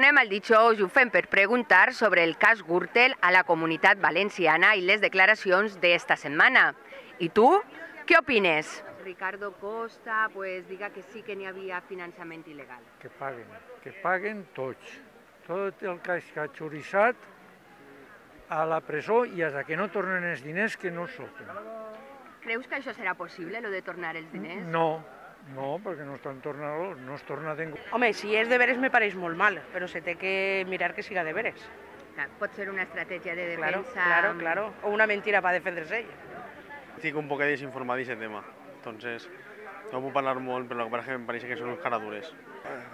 Tornem al dijous i ho fem per preguntar sobre el cas Gürtel a la Comunitat Valenciana i les declaracions d'esta setmana. I tu, què opines? Ricardo Costa diga que sí que n'hi havia finançament il·legal. Que paguen tots. Tot el que ha xoriçat a la presó i fins que no tornen els diners que no surten. Creus que això serà possible, lo de tornar els diners? No, perquè no estan tornant, no es torna ningú. Home, si és de veres me pareix molt mal, però se té que mirar que siga de veres. Pot ser una estratègia de defensa... Claro, o una mentira para defenderse ella. Estic un poc desinformat d'aquest tema, entonces no puc parlar molt, però el que passa és que em pareix que són uns caradures.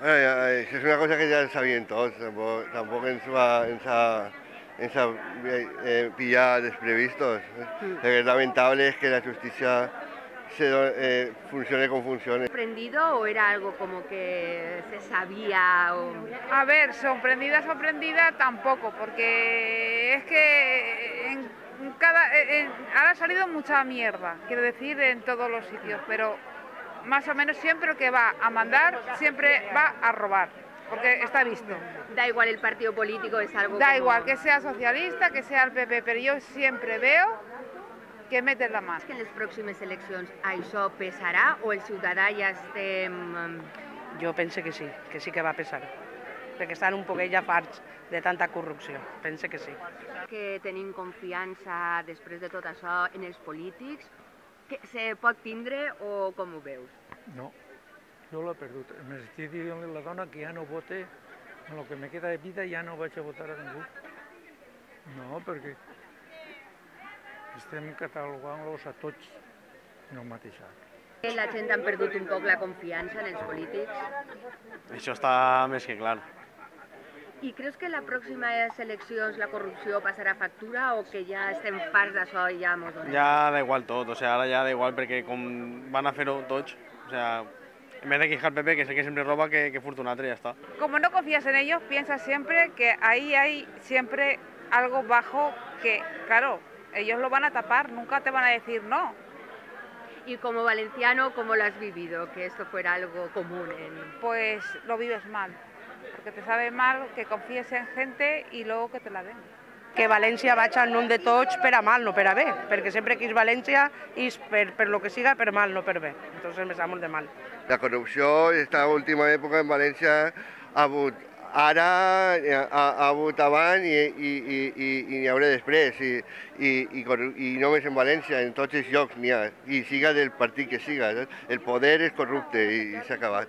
Es una cosa que ya sabían todos, tampoco ens ha pillado desprevistos. Lo que es lamentable es que la justicia funcione como funcione. ¿Sorprendido o era algo como que se sabía? A ver, sorprendida tampoco, porque es que ahora ha salido mucha mierda, quiero decir, en todos los sitios, pero más o menos siempre el que va a mandar siempre va a robar, porque está visto. Da igual el partido político, es algo Da igual que sea socialista, que sea el PP, pero yo siempre veo que meten la mà. Que en les pròximes eleccions això pesarà o el ciutadà ja estem... Jo penso que sí que va pesar, perquè estan un poquet ja farts de tanta corrupció, penso que sí. Que tenim confiança després de tot això en els polítics, que se pot tindre o com ho veus? No, jo l'he perdut. M'estic dient a la dona que ja no vote, en el que me queda de vida ja no vaig a votar a ningú. No, perquè estem catalogant-los a tots en el mateix sac. La gent ha perdut un poc la confiança en els polítics? Això està més que clar. I creus que en les pròximes eleccions la corrupció passarà factura o que ja estem farts d'això i ja mos donem? Ja da igual tot, ara ja da igual perquè com van a fer-ho tots, en vez de quejar el PP, que es el que siempre roba, que furta un altre, ya está. Como no confías en ellos, piensas siempre que ahí hay siempre algo bajo que, claro, ellos lo van a tapar, nunca te van a decir no. Y como valenciano, ¿cómo lo has vivido? Que esto fuera algo común. Pues lo vives mal, porque te sabe mal que confíes en gente y luego que te la den. Que València vaig en nom de tots per a mal, no per a bé, perquè sempre que és València és per lo que siga per mal, no per bé. Entonces me sap molt de mal. La corrupció, esta última època en València ha hagut ara, ha hagut abans i n'hi haurà després. I només en València, en tots els llocs n'hi ha. I siga del partit que siga. El poder és corrupte i s'ha acabat.